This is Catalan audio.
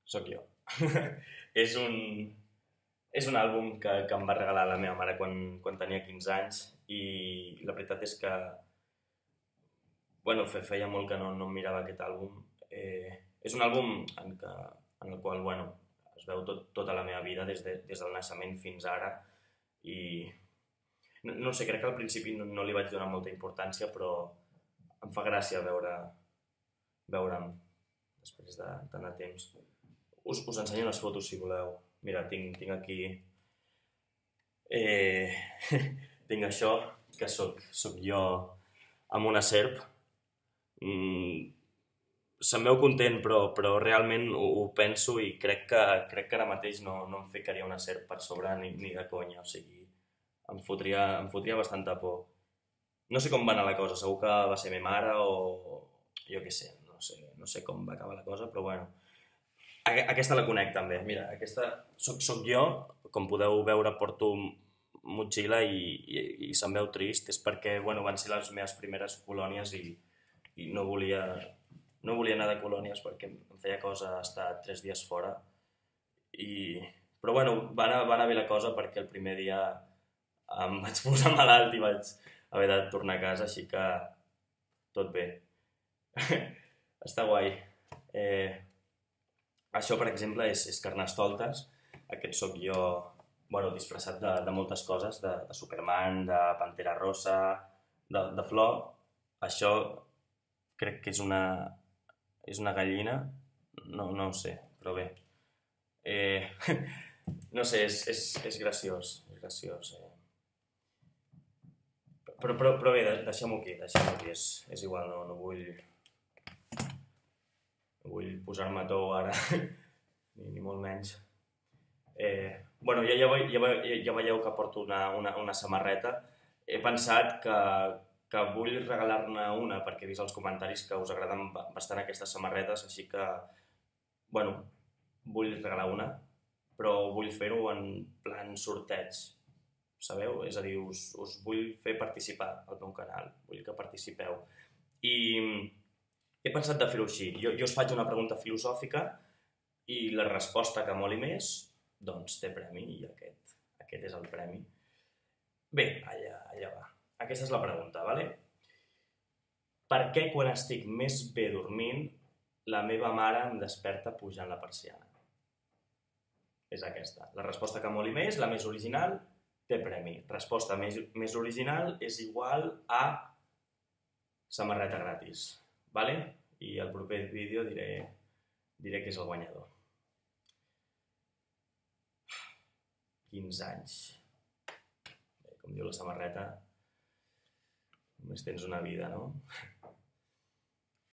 Sóc jo. És un, és un àlbum que em va regalar la meva mare quan tenia 15 anys i la veritat és que bueno, feia molt que no em mirava aquest àlbum. És un àlbum en el qual bueno, es veu tota la meva vida des del naixement fins ara i no sé, crec que al principi no li vaig donar molta importància però em fa gràcia veure'm després de tant de temps. Us ensenyo les fotos si voleu. Mira, tinc aquí... Eh, tinc això, que soc jo amb una serp. Se'm veu content, però realment ho penso i crec que ara mateix no em ficaria una serp per sobre ni de conya. O sigui, em fotria bastanta por. No sé com va anar la cosa, segur que va ser meva mare o jo què sé, no sé com va acabar la cosa, però bueno. Aquesta la conec també, mira, aquesta soc jo, com podeu veure porto motxilla i se'm veu trist, és perquè bueno, van ser les meves primeres colònies i no volia anar de colònies perquè em feia cosa estar 3 dies fora. Però bueno, va anar bé la cosa perquè el primer dia em vaig posar malalt i vaig haver de tornar a casa, així que tot bé. Està guai. Això, per exemple, és Carnestoltes. Aquest sóc jo, bueno, disfressat de moltes coses, de Superman, de Pantera Rosa, de flor. Això crec que és una gallina, no ho sé, però bé. No sé, és graciós, és graciós. Però bé, deixem-ho aquí, és igual, no vull posar-me a tou ara, ni molt menys. Bueno, ja veieu que porto una samarreta. He pensat que vull regalar-ne una perquè he vist als comentaris que us agraden bastant aquestes samarretes, així que, bueno, vull regalar una, però vull fer-ho en plan sorteig, sabeu? És a dir, us vull fer participar al meu canal, vull que participeu. I he pensat de fer-ho així. Jo us faig una pregunta filosòfica i la resposta que moli més, doncs té premi i aquest és el premi. Bé, allà va. Aquesta és la pregunta, ¿vale? Per què quan estic més bé dormint la meva mare em desperta pujant la persiana? És aquesta. La resposta que moli més, la més original, té premi. Resposta més original és igual a samarreta gratis. ¿Vale? I al proper vídeo diré que és el guanyador. 15 anys. Bé, com diu la samarreta, només tens una vida, no?